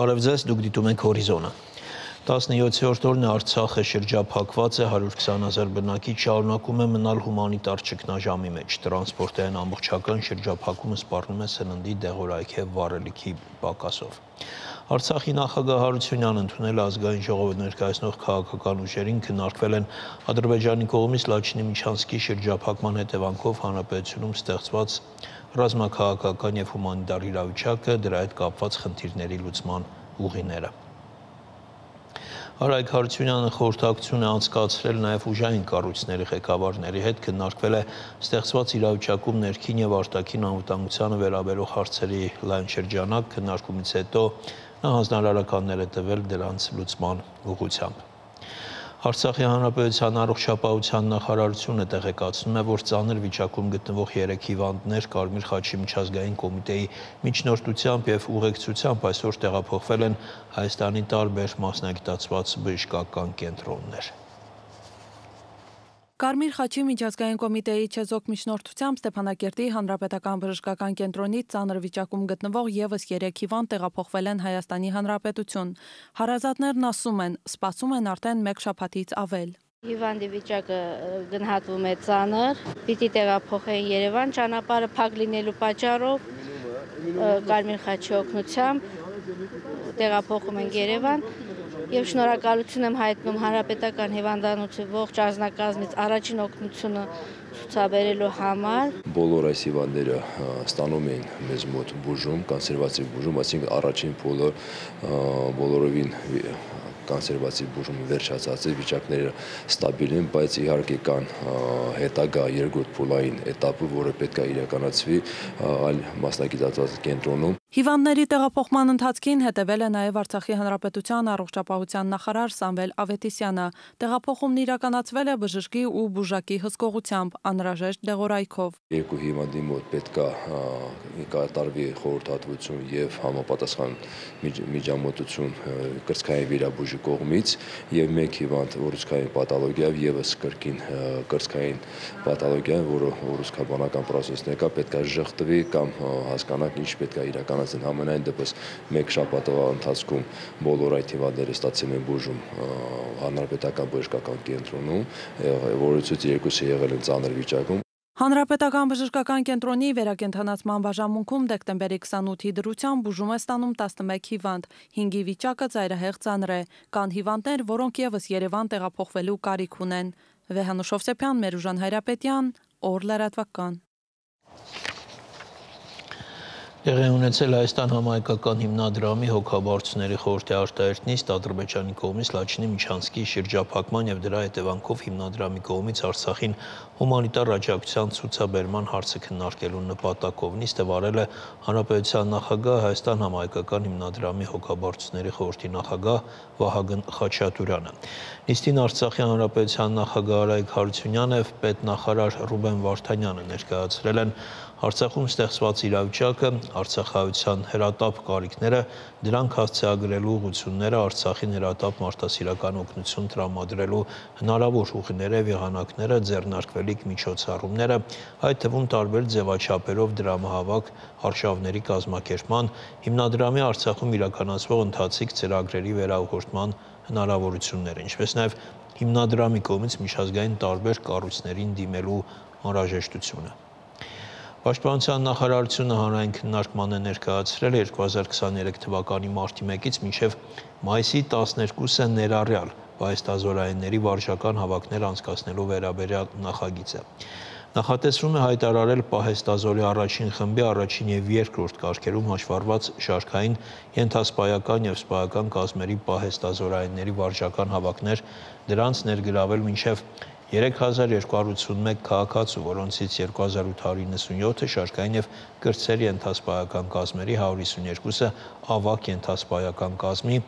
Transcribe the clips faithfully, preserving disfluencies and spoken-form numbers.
Բարև ձեզ, դուք դիտում եք Հորիզոնը։ տասնյոթերորդ օրն է Արցախը շրջափակված է, հարյուր քսան հազար բնակիչ շարունակում է մնալ հումանիտար ճգնաժամի մեջ։ Տրանսպորտային ամբողջական շրջափակումը սպառնում է սննդի, դեղորայքի և վառելիքի պակասով։ Արցախի նախագահ Հարությունյանն ընդունել ազգային ժողովը ներկայացնող քաղաքական ուժերին քննարկվել են Ադրբեջանի կողմից Լաչինի Միչանսկի շրջափակման հետևանքով հանրապետությունում ստեղծված ռազմաքաղաքական և հումանիտար իրավիճակը, դրա հետ կապված խնդիրների լուծման ուղիները։ Արայք Հարությունյանը խորհրդակցություն է անցկացրել նաև ուժային կառույցների ղեկավարների հետ, քննարկվել է ստեղծված իրավիճակում ներքին և արտաքին անվտանգությանը վերաբերող հարցերի լայն շրջանակ, քննարկումից հետո նա հանձնարարականներ է տվել դրանց լուծման ուղղությամբ։ Արցախի հանրապետության առողջապահության նախարարությունը տեղեկացնում է, որ ծանր վիճակում գտնվող երեք հիվանդներ Կարմիր խաչի միջազգային կոմիտեի միջնորդությամբ և ուղեկցությամբ այսօր տեղափոխվել են Հայաստանի տարբեր մասնագիտացված բժշկական կենտրոններ։ Կարմիր խաչի միջազգային կոմիտեի չեզոք միջնորդությամբ Ստեփանակերտի հանրապետական բժշկական կենտրոնից ծանր վիճակում գտնվող ևս երեք հիվանդ տեղափոխվել են Հայաստանի Հանրապետություն։ Հարազատներն ասում են, սպասում են արդեն մեկ շաբաթից ավել։ Հիվանդի վիճակը գնահատվում է ծանր, պիտի տեղափոխեն Երևան, ճանապարհը փակ լինելու պատճառով Կարմիր խաչի օգնությամբ տեղափոխում են Երևան եւ շնորհակալություն եմ հայտնում Հանրապետական հիվանդանոցի ողջ անձնակազմից առաջին օգնությունը ցուցաբերելու համար։ Բոլոր այս հիվանդները ստանում են մեզ մոտ բուժում, կոնսերվատիվ բուժում, այսինքն առաջին փուլը բոլորովին կոնսերվատիվ բուժումը վերջացած է, վիճակները ստաբիլ են, բայց իհարկե կան հետագա երկրորդ փուլային էտապը, որը պետք է իրականացվի այլ մասնագիտացված կենտրոնում։ Հիվանդների տեղափոխման ընթացքին հետևել է նաև Արցախի հանրապետության առողջապահության նախարար Սամվել Ավետիսյանը։ Տեղափոխումն իրականացվել է բժշկի ու բուժակի հսկողությամբ, անհրաժեշտ դեղորայքով։ Երկու հիվանդի մոտ պետք է կատարվի խորհրդատվություն եւ համապատասխան միջամտություն կրծքային վիրաբույժի կողմից եւ մեկ հիվանդ ուռուցքային պաթոլոգիա եւս կրկին կրծքային պաթոլոգիա, որը ուռուցքաբանական պրոցեսն է, պետք է ժխտվի կամ հասկանանք ինչ պետք է իրականացնել։ Համենայն դեպս մեկ շաբաթվա ընթացքում բոլոր այդ հիվանդները ստացել են բուժում հանրապետական բժշկական կենտրոնում, որից երկուսը եղել են ծանր վիճակում։ Հանրապետական բժշկական կենտրոնի վերակենդանացման բաժանմունքում դեկտեմբերի քսանութի դրությամբ բուժում է ստանում տասնմեկ հիվանդ, հինգի վիճակը ծայրահեղ ծանր է, կան հիվանդներ, որոնք ևս Երևան տեղափոխվելու կարիք ունեն։ Վեհանուշ Հովսեփյան, Մերուժան Հայրապետյան, Օր լրատվական։ Տեղի ունեցել Հայաստան համահայկական հիմնադրամի հոգաբարձուների խորհրդի արտահերտ նիստ Ադրբեջանի կողմից Լաչինի Միչանսկի շրջափակման և դրա հետևանքով հիմնադրամի կողմից Արցախին հումանիտար աջակցության ցուցաբերման հարցը քննարկելու նպատակով։ Նիստը վարել է Հանրապետության նախագահ, Հայաստան համահայկական հիմնադրամի հոգաբարձուների խորհրդի նախագահ Վահագն Խաչատուրյանը։ Նիստին Արցախի հանրապետության նախագահ Արայք Հարությունյանը և պետնախարար Ռուբեն Վարդանյանը ներկայացրել են Արցախում ստեղծված իրավիճակը, արցախայության հրատապ կարիքները, դրանք հասցեագրելու ուղղությունները, Արցախին հրատապ մարդասիրական օգնություն տրամադրելու հնարավոր ուղիները, եղանակները, ձեռնարկվելիք միջոցառումները, այդ թվում տարբեր ձևաչափերով դրամահավաք արշավների կազմակերպման, հիմնադրամի Արցախում իրականացվող ընթացիկ ծրագրերի վերաուղղորդման հնարավորությունները, ինչպես նաև հիմնադրամի կողմից միջազգային տարբեր կառույցներին դիմելու անհրաժեշտությունը։ Պաշտպանության նախարարությունը հանրային քննարկման է ներկայացրել երկու հազար քսաներեք թվականի մարտի մեկից մինչև մայիսի տասներկուսը ներառյալ պահեստազորայինների վարժական հավաքներ անցկացնելու վերաբերյալ նախագիծը։ Նախատեսվում է հայտարարել պահեստազորի առաջին խմբի առաջին և երկրորդ կարգերում հաշվառված շարքային ենթասպայական և սպայական կազմերի պահեստազորայինների վարժական հավաքներ, դրանց ներգրավել մինչև երեք հազար երկու հարյուր ութսունմեկ քաղաքացու, որոնցից երկու հազար ութ հարյուր իննսունյոթը շարքային և կրտսեր ենթասպայական կազմերի, հարյուր հիսուներկուսը ավագ ենթասպայական կազմի,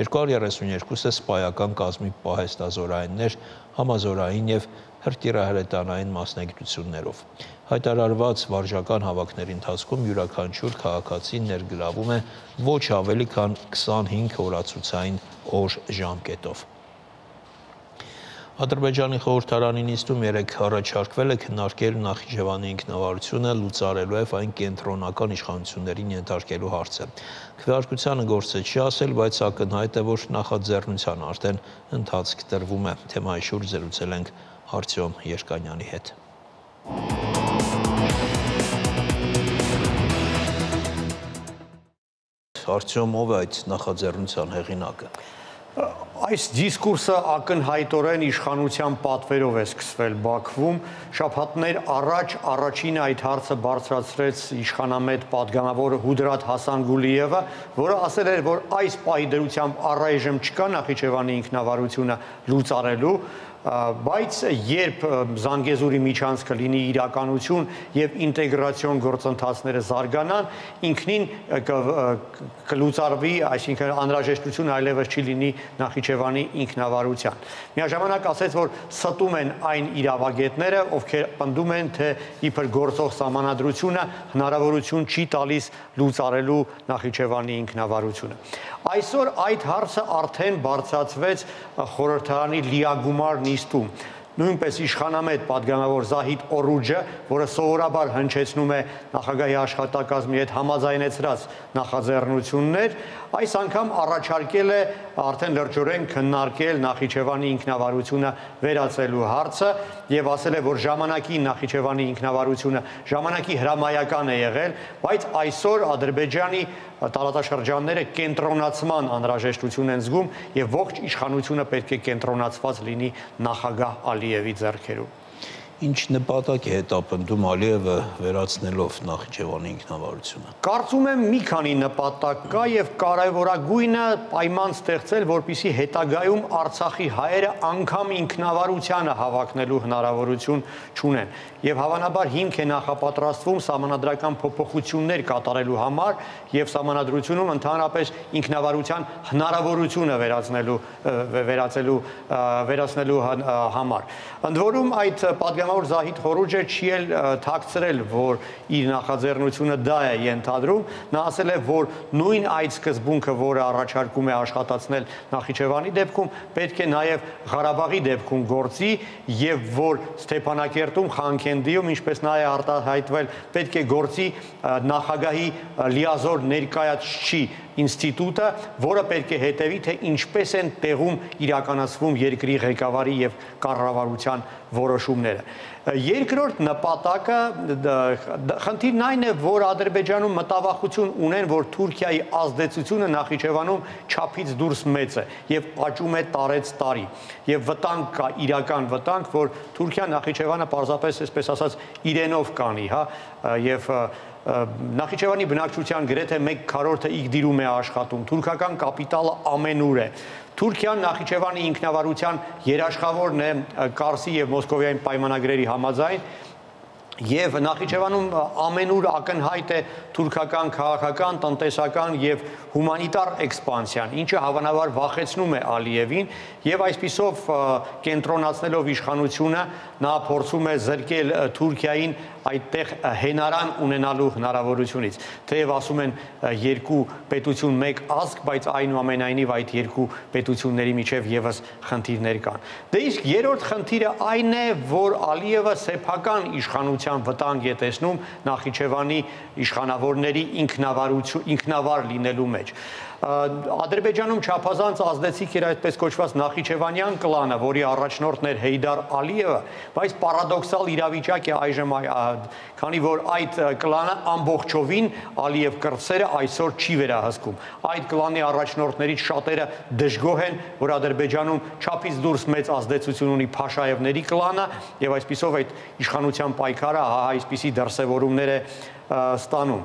երկու հարյուր երեսունյոթը սպայական կազմի պահեստազորայիններ, համազորային և հրթիռահրետանային մասնագիտություններով։ Հայտարարված վարժական հավաքների ընթացքում յուրաքանչյուր քաղաքացի ներգրավում է ոչ ավելի քան քսանհինգ օրացուցային օր ժամկետով։ Ադրբեջանի խորհրդարանի նիստում երեկ առաջարկվել է քննարկել Նախիջևանի ինքնավարությունը լուծարելու եւ այն կենտրոնական իշխանություններին ենթարկելու հարցը։ Քվեարկությանը գործը չի ասել, բայց ակնհայտ է, որ նախաձեռնության արդեն ընթացք տրվում է։ Թեմայի շուրջ զրուցել ենք Արտյոմ Երկանյանի հետ։ Արտյոմ, ով է այդ նախաձեռնության հեղինակը։ Այս դիսկուրսը ակնհայտորեն իշխանության պատվերով է սկսվել Բաքվում։ Շաբաթներ առաջ առաջին այդ հարցը բարձրացրեց իշխանամետ պատգամավոր Հուդրաթ Հասանգուլիևը, որը ասել էր, որ այս պահի դրությամբ առայժմ չկա Նախիջևանի ինքնավարությունը լուծարելու, բայց երբ Զանգեզուրի միջանցքը լինի իրականություն եւ ինտեգրացիոն գործընթացները զարգանան, ինքնին կլուծարվի, այսինքն անհրաժեշտություն այլևս չի լինի Նախիջևանի ինքնավարության։ Միաժամանակ ասեց, որ ստում են այն իրավագետները, ովքեր պնդում են, թե իբր գործող սահմանադրությունը հնարավորություն չի տալիս լուծարելու Նախիջևանի ինքնավարությունը։ Այսօր այդ հարցը արդեն բարձրացվեց խորհրդարանի լիագումար նիստում։ Նույնպես իշխանամետ պատգամավոր Զահիդ Օրուջը, որը սովորաբար հնչեցնում է նախագահի աշխատակազմի հետ համաձայնեցրած նախաձեռնություններ, այս անգամ առաջարկել է արդեն լրջորեն քննարկել Նախիջևանի ինքնավարությունը վերացելու հարցը եւ ասել է, որ ժամանակի Նախիջևանի ինքնավարությունը ժամանակի հրամայական է եղել, բայց այսօր Ադրբեջանի տարածաշրջանները կենտրոնացման անհրաժեշտություն են զգում եւ ողջ իշխանությունը պետք է կենտրոնացված լինի նախագահ Ալիևի ձեռքերում։ Ինչ նպատակ է հետապնդում Ալիևը վերացնելով Նախիջևանի ինքնավարությունը։ Կարծում եմ մի քանի նպատակ կա եւ կարևորագույնը պայման ստեղծել, որպեսզի հետագայում Արցախի հայերը անգամ ինքնավարությանը հավակնելու հնարավորություն չունեն։ Եվ հավանաբար հիմք է նախապատրաստվում սահմանադրական փոփոխություններ կատարելու համար եւ սահմանադրությունում ընդհանրապես ինքնավարության հնարավորությունը վերացնելու վերացելու վերացնելու համար։ Ընդ որում այդ պատգամավոր Զահիդ Օրուջը չի էլ թաքցրել, որ իր նախաձեռնությունը դա է ենթադրում, նա ասել է, որ նույն այդ սկզբունքը, որը առաջարկում է աշխատացնել Նախիջևանի դեպքում, պետք է նաեւ Ղարաբաղի դեպքում գործի եւ որ Ստեփանակերտում Խանքենդիում, ինչպես նա է արտահայտվել, պետք է գործի նախագահի լիազոր ներկայացուցիչի ինստիտուտը, որը պետք է հետևի, թե ինչպես են տեղում իրականացվում երկրի ղեկավարի եւ կառավարության որոշումները։ Երկրորդ նպատակը խնդիրն այն է, որ Ադրբեջանում մտավախություն ունեն, որ Թուրքիայի ազդեցությունը Նախիջևանում չափից դուրս մեծ է եւ աճում է տարեց տարի եւ վտանգ կա, իրական վտանգ, որ Թուրքիան Նախիջևանը պարզապես, այսպես ասած, իրենով կանի, հա, եւ Նախիջևանի բնակչության գրեթե մեկ քառորդը Իգդիրում է աշխատում, թուրքական կապիտալը ամենուր է։ Թուրքիան Նախիջևանի ինքնավարության երաշխավորն է Կարսի եւ Մոսկովիայի պայմանագրերի համաձայն եւ Նախիջևանում ամենուր ակնհայտ է թուրքական քաղաքական, տնտեսական եւ հումանիտար էքսպանսիան, ինչը հավանաբար վախեցնում է Ալիևին եւ այսպիսով կենտրոնացնելով իշխանությունը նա փորձում է զրկել Թուրքիային այդտեղ հենարան ունենալու հնարավորությունից։ Թեև ասում են երկու պետություն մեկ ազգ, բայց այնուամենայնիվ այդ երկու պետությունների միջև եւս խնդիրներ կան։ Դե իսկ երրորդ խնդիրը այն է, որ Ալիևը սեփական իշխանության վտանգ է տեսնում Նախիջևանի իշխանավորների ինքնավարություն, ինքնավար լինելու մեջ։ Ադրբեջանում չափազանց ազդեցիկ էր այդպես կոչված Նախիջևանյան կլանը, որի առաջնորդն էր Հեյդար Ալիևը, բայց պարադոքսալ իրավիճակ է այժմ, քանի որ այդ կլանը ամբողջովին Ալիև կրտսերը այսօր չի վերահսկում։ Այդ կլանի առաջնորդներից շատերը դժգոհ են, որ Ադրբեջանում չափից դուրս մեծ ազդեցություն ունի Փաշաևների կլանը եւ այսպիսով այդ իշխանության պայքարը այսպիսի դրսևորումներ է ստանում։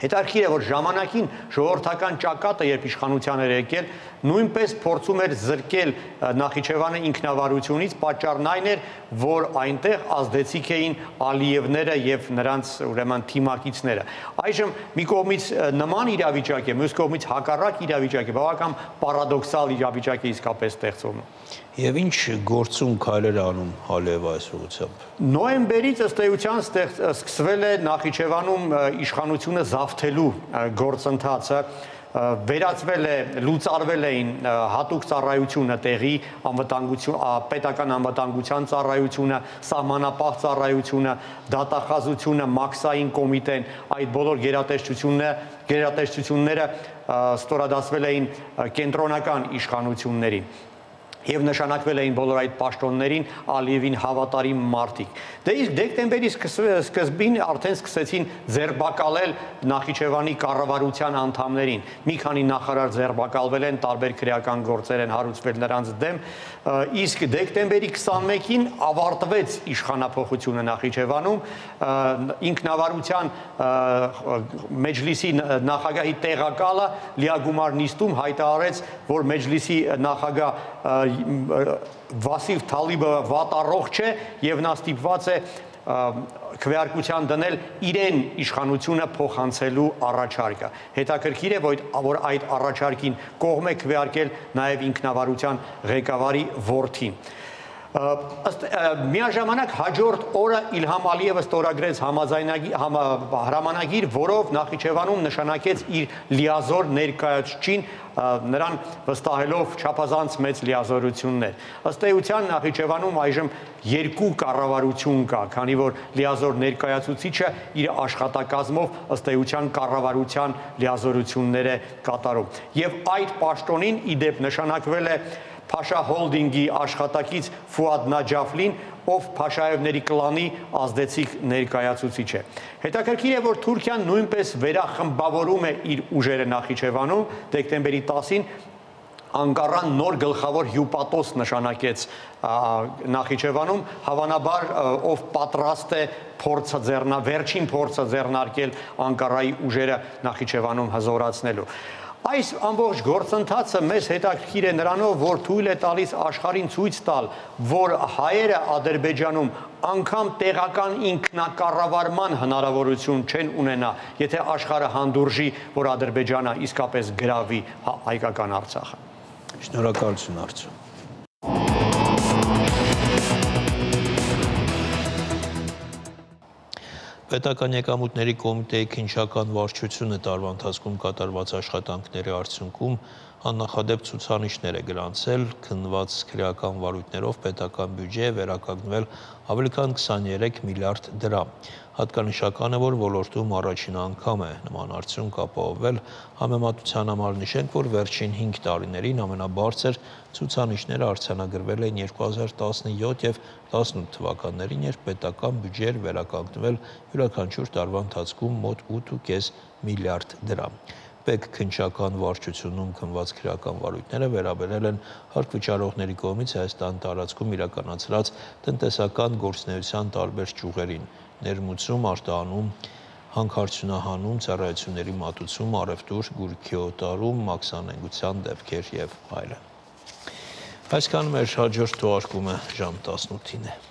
Հետաքրքիր է, որ ժամանակին ժողովրդական ճակատը, երբ իշխանության էր եկել, նույնպես փորձում էր զրկել Նախիջևանը ինքնավարությունից, պատճառն այն էր, որ այնտեղ ազդեցիկ էին Ալիևները եւ նրանց ուրեմն թիմակիցները։ Այժմ մի կողմից նման իրավիճակ է, մյուս կողմից հակառակ իրավիճակ է, բավական պարադոքսալ իրավիճակ է իսկապես ստեղծվում։ Եվ ինչ գործում քայլեր անում Ալիևը այս ուղղությամբ։ Նոյեմբերից ըստ էության սկսվել է Նախիջևանում իշխանությունը զավթելու գործընթացը, վերածվել է, լուծարվել էին հատուկ ծառայությունը տեղի անվտանգություն, պետական անվտանգության ծառայությունը, սահմանապահ ծառայությունը, դատախազությունը, մաքսային կոմիտեն, այդ բոլոր գերատեսչությունները, գերատեսչությունները ստորադասվել էին կենտրոնական իշխանություններին եւ նշանակվել էին բոլոր այդ պաշտոններին Ալիևին հավատարիմ մարդիկ։ Դե իսկ դեկտեմբերի սկզբին արդեն սկսեցին ձերբակալել Նախիջևանի կառավարության անդամներին։ Մի քանի նախարար ձերբակալվել են, տարբեր քրեական գործեր են հարուցվել նրանց դեմ, իսկ դեկտեմբերի քսանմեկին ավարտվեց իշխանափոխությունը Նախիջևանում, ինքնավարության մեջլիսի նախագահի տեղակալը լիագումար նիստում հայտարարեց, որ մեջլիսի նախագահ Վասիվ Թալիբը վատառողջ է եւ նա ստիպված է քվեարկության դնել իրեն իշխանությունը փոխանցելու առաջարկը։ Հետաքրքիր է, որ այդ առաջարկին կողմ է քվեարկել նաեւ ինքնավարության ղեկավարի որդին։ Միաժամանակ հաջորդ օրը Իլհամ Ալիևը ստորագրեց հրամանագիր, որով Նախիջևանում նշանակեց իր լիազոր ներկայացուցիչին, նրան վստահելով չափազանց մեծ լիազորություններ։ Ըստ էության Նախիջևանում այժմ երկու կառավարություն կա, քանի որ լիազոր ներկայացուցիչը իր աշխատակազմով ըստ էության կառավարության լիազորություններ է կատարում։ Եվ այդ պաշտոնին ի դեպ նշանակվել է Փաշա հոլդինգի աշխատակից Ֆուադ Նաջաֆլին, ով Փաշաևների կլանի ազդեցիկ ներկայացուցիչ է։ Հետաքրքիր է, որ Թուրքիան նույնպես վերախմբավորում է իր ուժերը Նախիջևանում, դեկտեմբերի տասին Անկարան նոր գլխավոր հյուպատոս նշանակեց Նախիջևանում, հավանաբար ով պատրաստ է փորձը ձեռնա, վերջին փորձը ձեռնարկել Անկարայի ուժերը Նախիջևանում հզորացնելու։ Այս ամբողջ գործընթացը մեզ հետաքրքիր է նրանով, որ թույլ է տալիս աշխարհին ցույց տալ, որ հայերը Ադրբեջանում անգամ տեղական ինքնակառավարման հնարավորություն չեն ունենա, եթե աշխարհը հանդուրժի, որ Ադրբեջանը իսկապես գրավի հայկական Արցախը։ Շնորհակալություն, Արծու։ Պետական եկամուտների կոմիտեի քննչական վարչությունը տարվա ընթացքում կատարված աշխատանքների արդյունքում աննախադեպ ցուցանիշներ է գրանցել, քննված քրեական վարույթներով պետական բյուջե է վերականգնվել ավելի քան քսաներեք միլիարդ դրամ։ Հատկանշական է, որ ոլորտում առաջին անգամ է նման արդյունք ապահովվել, համեմատության համար նշենք, որ վերջին հինգ տարիներին ամենաբարձր ցուցանիշները արձանագրվել են երկու հազար տասնյոթ եւ տասնութ թվականներին, երբ պետական բյուջե էր վերականգնվել յուրաքանչյուր տարվա ընթացքում մոտ ութ ու կես միլիարդ դրամ։ Պետք քննչական վարչությունում քննված քրեական վարույթները վերաբերել են հարկվճարողների կողմից Հայաստան տարածքում իրականացրած տնտեսական գործունեության տարբեր ճյուղերին՝ ներմուծում, արտահանում, հանքարդյունահանում, ծառայությունների մատուցում, առևտուր, գույքի օտարում, մաքսանենգության դեպքեր եւ այլն։ Այսքանը մեր հաջորդ թողարկումը ժամ տասնութին է։